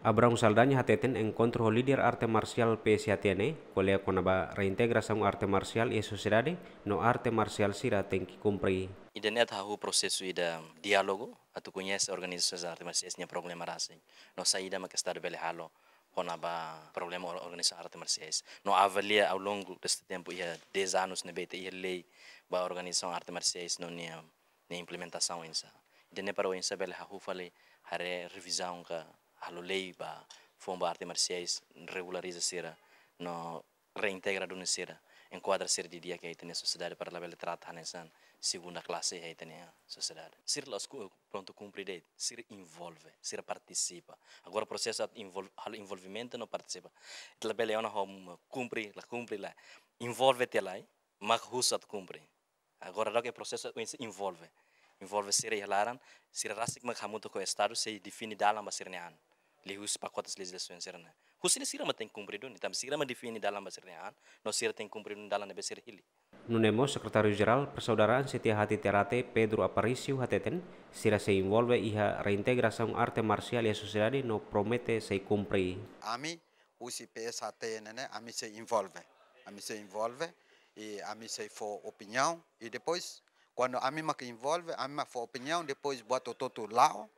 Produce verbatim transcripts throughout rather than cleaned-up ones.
Abraão Saldanha hateten enkontru ho líder arte marsiál P S H T ne'e ko'alia kona-ba reintegrasaun arte marsiál iha sosiedade no arte marsiál sira tenke kumpre. Ida-ne'e atu hahú prosesu ida diálogu, atu koñese organizasaun arte marsiais nia problema rasik. No saida mak Estadu bele halo kona-ba problema or-, organizasaun arte marsiais. No avalia ao longo deste tempu iha dez anos ne'ebé ita iha lei ba organizasaun arte marsiais no nia, nia implementasaun oinsá. Ida-ne'e para oinsá bele hahú fali haree revizaun ka halo lei ba foun ba arte marsiais, regulariza sira no reintegra duni sira, enkuadra sira didi'ak iha ita-nia sosiedade para labele trata hanesan segunda klase iha ita-nia sosiedade. Sira la'ós ku-, prontu kumpre de'it, sira envolve, sira partisipa. Agora prosesu atu envol-, halo envolvimentu no partisipa. Ita labele ona ho kumpre, la kumpre la. Envolve tiha lai, mak husu atu kumpre. Agora daudaun prosesu oinsá envolve. Envolve sira iha laran, sira rasik mak hamutuk ho Estadu sei define dalan ba sira-nia an. Liuhusi pakotes lei sira-ne'e. Husi ne'e sira mak tenke kumpre duni, tanba sira mak define dalan ba sira-nia an, no sira tenke kumpre duni dalan ne'ebé sira hili. Nune'e mós Sekretáriu Jerál Persaudaraan C T H T Ternate Pedro Aparício hateten, sira sei envolve iha reintegrasaun arte marsiál iha sosiedade no promete sei kumpre. Ami husi P S H T ne'e, ami sei envolve. Ami sei envolve, i ami sei fó opiniaun, i depois, kuandu ami mak envolve, ami mak fó opiniaun, depois buat hotu-hotu la'o,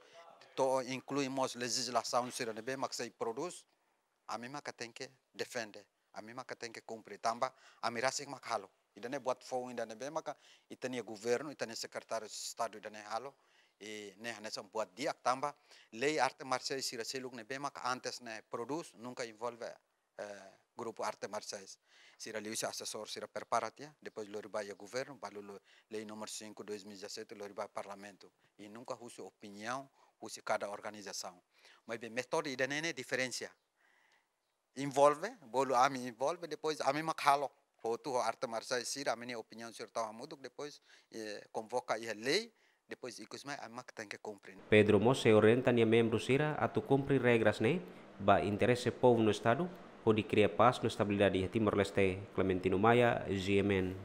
to'o inklui mós lejizlasaun sira ne'ebé mak sei prodús, ami mak tenke defende, ami mak tenke kumpre, tanba ami rasik mak halo. Ida-ne'e buat foun ida ne'ebé maka ita-nia governu, ita-nia Sekretáriu Estadu ida-ne'e halo, i ne'e hanesan buat di'ak tanba lei arte marsiais sira seluk ne'ebé maka antes ne'e prodús, nunka envolve, eh, grupu arte marsiais. Sira liuhusi asesór sira prepara tiha, depois lori ba iha governu, balu lo-, lei númeru cinco dois mil e dezassete lori ba Parlamentu. I nunka husu opiniaun husi kada organizasaun. Maibé métodu ida-ne'e ne'e diferensa. Envolve, bolu ami envolve, depois ami mak halo. Hotu ho arte marsiais sira, ami-nia opiniaun sira tau hamutuk, depois, eh, konvoka iha lei, depois ikus mai ami mak tenke kumpre. Pedro mós sei orienta nia membru sira atu kumpre regras ne'e ba interese povu no Estadu, hodi kria pás no estabilidade iha Timor-Leste. Clementino Maia, G M N.